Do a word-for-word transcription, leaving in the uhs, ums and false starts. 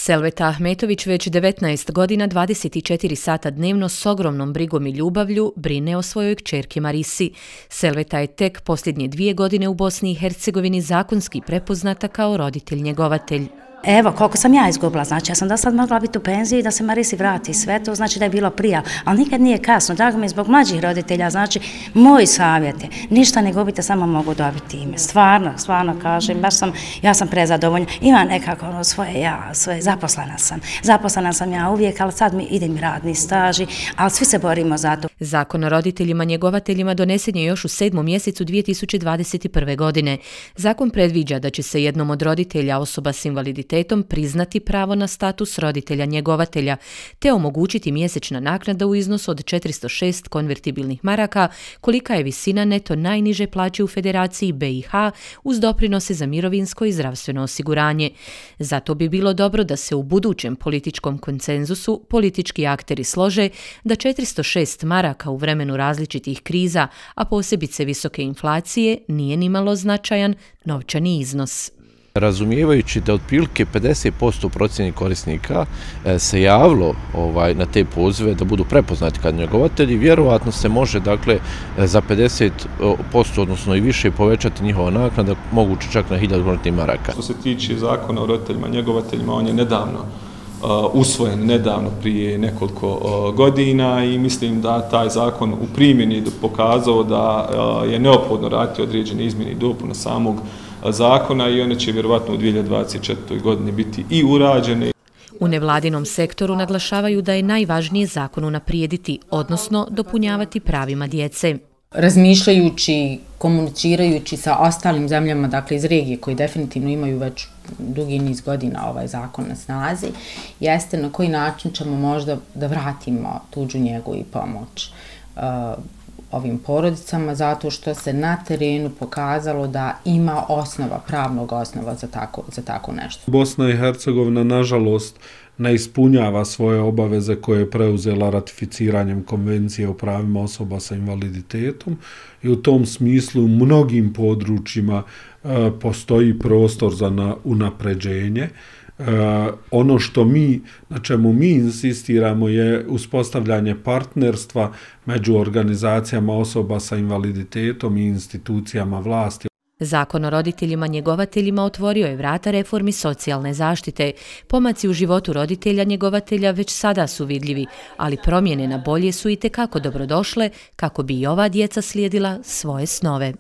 Selveta Ahmetović već devetnaest godina, dvadeset četiri sata dnevno s ogromnom brigom i ljubavlju brine o svojoj kćerki Marisi. Selveta je tek posljednje dvije godine u Bosni i Hercegovini zakonski prepoznata kao roditelj-njegovatelj. Evo, koliko sam ja izgubila, znači ja sam do sad mogla biti u penziji da se Marisi vrati sve, to znači da je bilo prija, ali nikad nije kasno, drago mi je zbog mlađih roditelja, znači moj savjet je, ništa ne gubite, samo mogu dobiti ime, stvarno, stvarno kažem, baš sam, ja sam prezadovoljna, imam nekako ono svoje ja, svoje, zaposlena sam, zaposlena sam ja uvijek, ali sad mi ide mi radni staži, ali svi se borimo za to. Zakon o roditeljima njegovateljima donesen je još u sedmom mjesecu dvije tisuće dvadeset prve. godine. Zakon predviđa da će se jednom od roditelja osoba s invaliditetom priznati pravo na status roditelja njegovatelja, te omogućiti mjesečna naknada u iznosu od četiristo šest konvertibilnih maraka, kolika je visina neto najniže plaće u Federaciji B i H uz doprinose za mirovinsko i zdravstveno osiguranje. Zato bi bilo dobro da se u budućem političkom konsenzusu politički akteri slože da četiristo šest maraka u vremenu različitih kriza, a posebice visoke inflacije, nije nimalo značajan novčani iznos. Razumijevajući da otprilike pedeset posto procjeni korisnika se javilo ovaj, na te pozive da budu prepoznati kao njegovatelji, vjerovatno se može dakle, za pedeset posto odnosno i više povećati njihova naknada, moguće čak na hiljadu maraka. Što se tiče zakona o roditeljima njegovateljima, on je nedavno uh, usvojen, nedavno prije nekoliko uh, godina i mislim da taj zakon u primjeni pokazao da uh, je neophodno raditi određene izmjene i dopune samog zakona i one će vjerovatno u dvije hiljade dvadeset četvrtoj. godini biti i urađene. U nevladinom sektoru naglašavaju da je najvažnije zakon unaprijediti, odnosno dopunjavati pravima djece. Razmišljajući, komunicirajući sa ostalim zemljama, dakle iz regije koji definitivno imaju već dugi niz godina ovaj zakon na snazi, jeste na koji način ćemo možda da vratimo tuđu njegu i pomoć uh, ovim porodicama, zato što se na terenu pokazalo da ima osnova, pravnog osnova za tako, za tako nešto. Bosna i Hercegovina, nažalost, ne ispunjava svoje obaveze koje je preuzela ratificiranjem Konvencije o pravima osoba sa invaliditetom i u tom smislu u mnogim područjima e, postoji prostor za na, unapređenje. Uh, ono što mi, na čemu mi insistiramo je uspostavljanje partnerstva među organizacijama osoba sa invaliditetom i institucijama vlasti. Zakon o roditeljima njegovateljima otvorio je vrata reformi socijalne zaštite. Pomaci u životu roditelja njegovatelja već sada su vidljivi, ali promjene na bolje su itekako dobrodošle kako bi i ova djeca slijedila svoje snove.